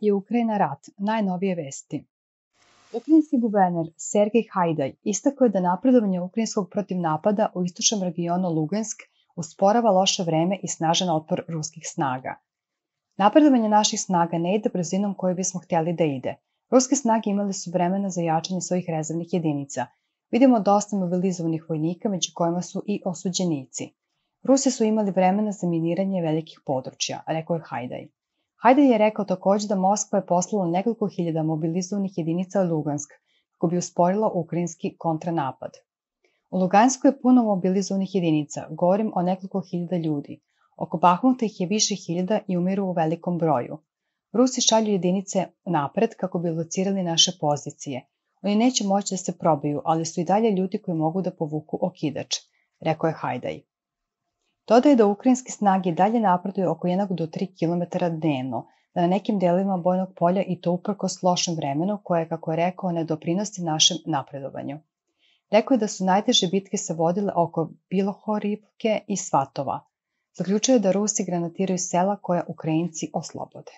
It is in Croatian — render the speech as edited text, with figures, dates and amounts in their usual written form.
je Ukrajina rat, najnovije vesti. Ukrajinski guverner Sergej Hajdaj istakao je da napredovanje ukrajinskog protiv napada u istočnom regionu Lugansk usporava loše vreme i snažan otpor ruskih snaga. Napredovanje naših snaga ne ide brzinom koju bismo htjeli da ide. Ruske snage imali su vremena za jačanje svojih rezervnih jedinica. Vidimo dosta mobilizovanih vojnika, među kojima su i osuđenici. Rusi su imali vremena za miniranje velikih područja, rekao je Hajdaj. Hajdaj je rekao također da Moskva je poslala nekoliko hiljada mobilizovanih jedinica u Lugansk kako bi usporila ukrajinski kontranapad. U Lugansku je puno mobilizovanih jedinica, govorim o nekoliko hiljada ljudi. Oko Bahmuta ih je više hiljada i umiru u velikom broju. Rusi šalju jedinice napred kako bi locirali naše pozicije. Oni neće moći da se probiju, ali su i dalje ljudi koji mogu da povuku okidač, rekao je Hajdaj. Dodaje da ukrajinske snage i dalje napreduju oko 1 do 3 km dnevno, da na nekim delovima bojnog polja i to uprkos lošem vremenu koje, kako je rekao, ne doprinosi našem napredovanju. Rekao je da su najteže bitke se vodile oko Bilohorivke i Svatova. Zaključuje da Rusi granatiraju sela koja Ukrajinci oslobode.